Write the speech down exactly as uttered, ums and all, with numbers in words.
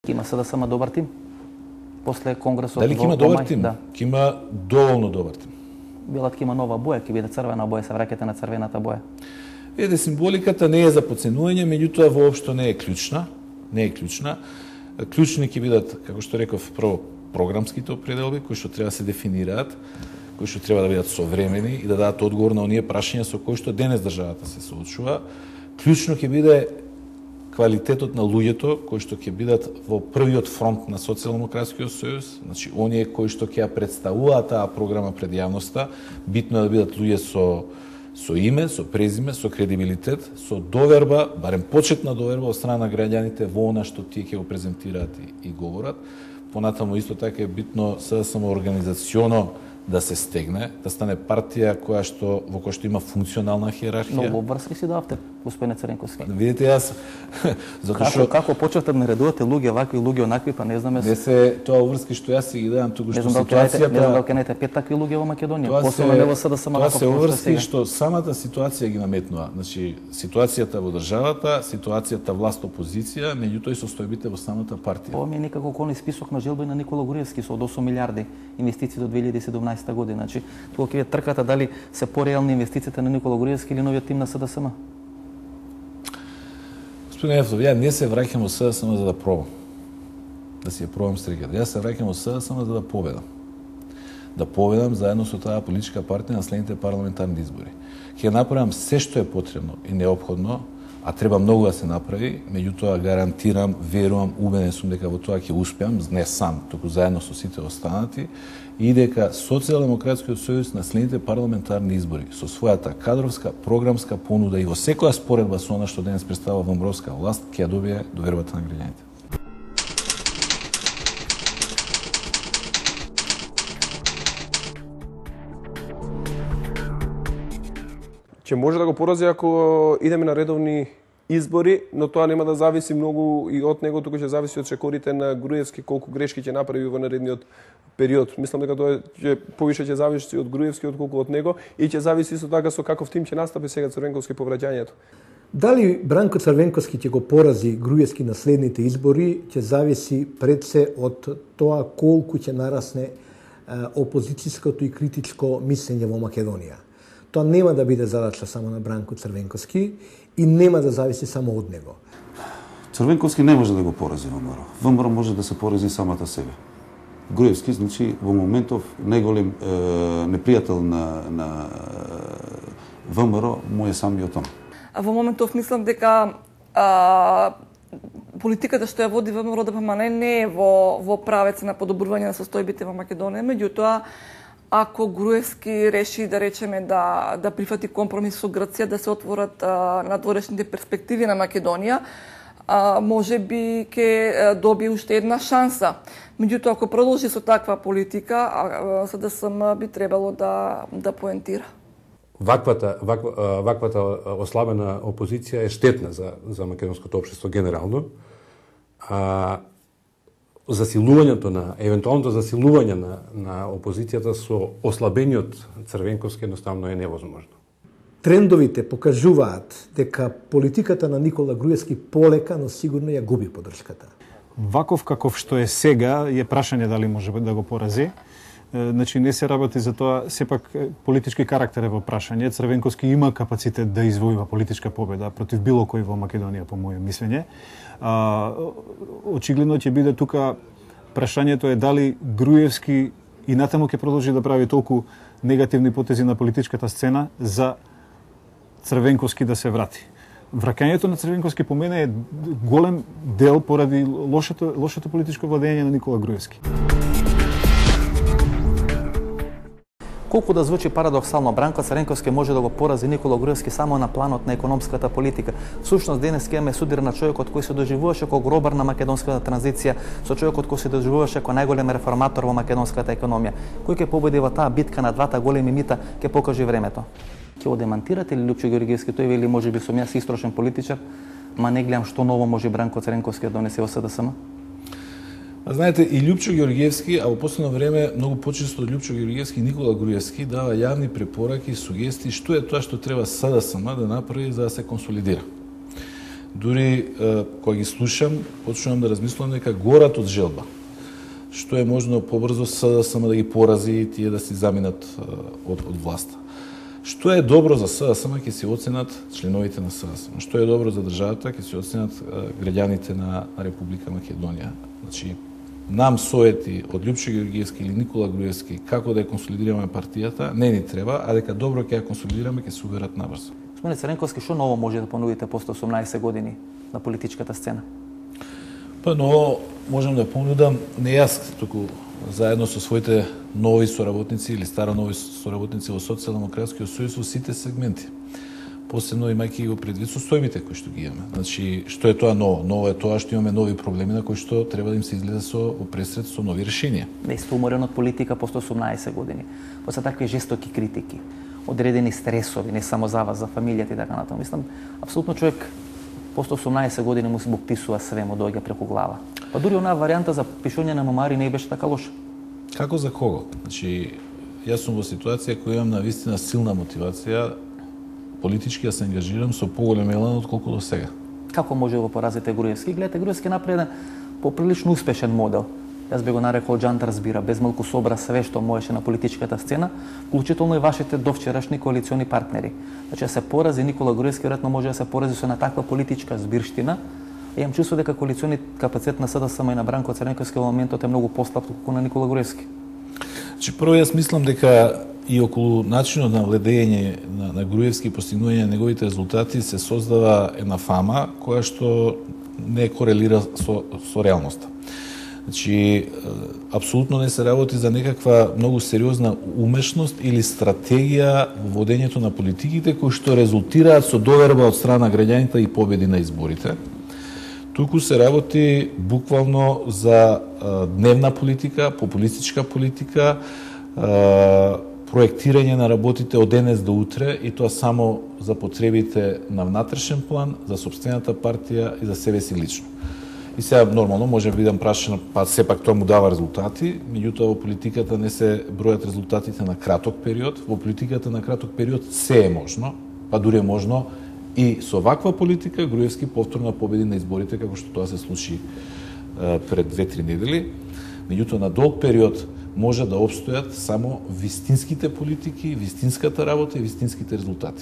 Има СДСМ добар тим? После конгресот... Дали ќе има добар тим? Да. Ќе има доволно добар тим. Билат ќе има нова боја, ќе биде црвена боја, се враќате на црвената боја. Еде, символиката не е за подценување, меѓутоа воопшто не е клучна. Не е клучна. Клучни ќе бидат, како што реков, прво програмските определби, кои што треба да се дефинираат, кои што треба да бидат современи и да дадат одговор на оние прашања со кои што денес државата се соочува. Клучно ќе биде квалитетот на луѓето кои што ќе бидат во првиот фронт на Социјалдемократскиот сојуз, значи оние кои што ќе ја представуваат таа програма пред јавноста, битно е да бидат луѓе со со име, со презиме, со кредибилитет, со доверба, барем почетна доверба од страна на граѓаните во она што тие ќе го презентираат и, и говорат. Понатаму исто така е битно СДСМ организационо да се стегне, да стане партија која што во која што има функционална хиерархија. Многу обврски си давте, господине Црвенковски. Видите, јас затоа што како почнете да наредувате луѓе вакви, луѓе онакви, па не знаме. Не се тоа обврски што јас си ги давам туку што ситуацијата. Не знам дали ќе пет такви луѓе во Македонија. Посебно не во СДСМ. Тоа се обврски што самата ситуација ги наметнува. Значи ситуацијата во државата, ситуацијата власт опозиција, меѓутоа и состојбите во самата партија. Ова ми е некако кој список на желби на Никола Груевски со од осум милиарди инвестиции до две илјади и седумнаесета година. Значи, тука ќе трката дали се пореални инвестициите на Никола Груевски или новиот тим на СДСМ. Господин Ефтов, ја не се враќам во СДСМ за да пробам. Да си ја пробам стриката. Јас се враќам во СДСМ за да победам. Да победам заедно со таа политичка партија на следните парламентарни избори. Ќе направам се што е потребно и неопходно, а треба многу да се направи, меѓутоа гарантирам, верувам, убеден сум дека во тоа ќе успеам, не сам, туку заедно со сите останати, и дека Социјалдемократскиот сојуз на следните парламентарни избори со својата кадровска, програмска понуда и во секоја споредба со она што денес представува ВМРО-ска власт ќе ја добие довербата на граѓаните. Ќе може да го порази ако идеме на редовни избори, но тоа нема да зависи многу и од него, туку ќе зависи од чекорите на Груевски колку грешки ќе направи во наредниот период. Мислам дека тоа ќе повише ќе зависи од Груевски отколку од него и ќе зависи со така со каков тим ќе настапи сега Црвенковски по враќањето. Дали Бранко Црвенковски ќе го порази Груевски на следните избори, ќе зависи пред се од тоа колку ќе нарасне опозицијското и критичко мислење во Македонија. Тоа нема да биде задача само на Бранко Црвенковски и нема да зависи само од него. Црвенковски не може да го порази ВМРО. ВМРО може да се порази самата себе. Груевски, значи, во моментов најголем е, непријател на, на ВМРО му е самиот он. Во моментов мислам дека а, политиката што ја води ВМРО да ДПМН не е во, во правец на подобрување на состојбите во Македонија, меѓутоа ако Груевски реши да речеме да да прифати компромис со Грција, да се отворат а, надворешните перспективи на Македонија, а, може би ќе добие уште една шанса. Меѓутоа ако продолжи со таква политика, СДСМ би требало да да поентира. Ваквата ваква, ваквата ослабена опозиција е штетна за за македонското општество генерално. А засилувањето на евентуалното засилување на на опозицијата со ослабениот Црвенковски едноставно е невозможно. Трендовите покажуваат дека политиката на Никола Груевски полека, но сигурно ја губи поддршката. Ваков каков што е сега е прашање дали може да го порази. Значи не се работи за тоа, сепак политички карактер е во прашање. Црвенковски има капацитет да извојува политичка победа против било кој во Македонија, по моје мислење. А, очигледно ќе биде тука прашањето е дали Груевски и натаму ќе продолжи да прави толку негативни потези на политичката сцена за Црвенковски да се врати. Враќањето на Црвенковски по мене е голем дел поради лошото лошото политичко владење на Никола Груевски. Колку да звучи парадоксално, Бранко Црвенковски може да го порази Никола Груевски само на планот на економската политика. Всушност денес ќе имаме судир на човекот кој се доживуваше како гробар на македонската транзиција, со човекот кој се доживуваше како најголем реформатор во македонската економија. Кој ќе победи во таа битка на двата големи мита ќе покаже времето. Ќе го демантирате ли Лјупчо Ѓорѓевски? Тој вели можеби сум јас истрошен политичар, ма не гледам што ново може Бранко Црвенковски да донесе во СДСМ. Знаете, и Лјупчо Ѓорѓевски, а во последно време многу почесто од Лјупчо Ѓорѓевски и Никола Груевски дава јавни препораки и сугестии што е тоа што треба СДСМ да направи за да се консолидира. Дури кога ги слушам, почнувам да размислувам дека горат од желба. Што е можно побрзо СДСМ да ги порази и тие да си заминат од, од власта. Што е добро за СДСМ ќе се оценат членовите на СДСМ. Што е добро за државата ќе се оценат граѓаните на, на Република Македонија. Значи, нам совети од Лјупчо Георгиевски или Никола Груевски како да ја консолидираме партијата не ни треба, а дека добро ќе ја консолидираме ќе се уберат набрзо. Господине Црвенковски, што ново може да понудите после осумнаесет години на политичката сцена? Па, но можам да понудам не јас, туку заедно со своите нови соработници или старо нови соработници во Социјалдемократскиот сојуз во сите сегменти. Посебно имајќи го предвид состојбите кои што ги имаме. Значи, што е тоа ново? Ново е тоа што имаме нови проблеми на кои што треба да им се изгледа со опресред со нови решенија. Не сте уморен од политика после осумнаесет години. После такви жестоки критики, одредени стресови, не само за вас, за фамилијата и така натаму. Мислам, апсолутно човек после осумнаесет години му се му писува све, му доаѓа преку глава. Па дури онаа варијанта за пишување на мемуари не беше така лоша. Како за кого? Значи, јас сум во ситуација која имам навистина силна мотивација политички да се ангажирам со поголем елан отколку до сега. Како може да го поразите Груевски? Гледате, Груевски направи еден поприлично успешен модел. Јас би го нарекол Джант разбира, без малку собра све што можеше на политичката сцена, вклучително и вашите довчерашни коалициони партнери. Значи, да се порази Никола Груевски, веројатно може да се порази со една таква политичка збирштина. Имам чувство дека коалициони капацитет на СДСМ и на Бранко Црвенковски во моментот е многу послаб колку на Никола Груевски. Значи, прво јас мислам дека и околу начинот на владење на, на Груевски и постигнување на неговите резултати се создава една фама која што не корелира со, со реалноста. Значи, апсолутно не се работи за некаква многу сериозна умешност или стратегија во водењето на политиките кои што резултираат со доверба од страна на граѓаните и победи на изборите. Туку се работи буквално за а, дневна политика, популистичка политика, а, проектирање на работите од денес до утре и тоа само за потребите на внатрешен план, за сопствената партија и за себе си лично. И сега нормално може да бидам прашан, па сепак тоа му дава резултати, меѓутоа во политиката не се бројат резултатите на краток период, во политиката на краток период се е можно, па дури е можно и со ваква политика Груевски повторно победи на изборите како што тоа се случи е, пред две-три недели. Меѓутоа на долг период може да опстојат само вистинските политики, вистинската работа и вистинските резултати.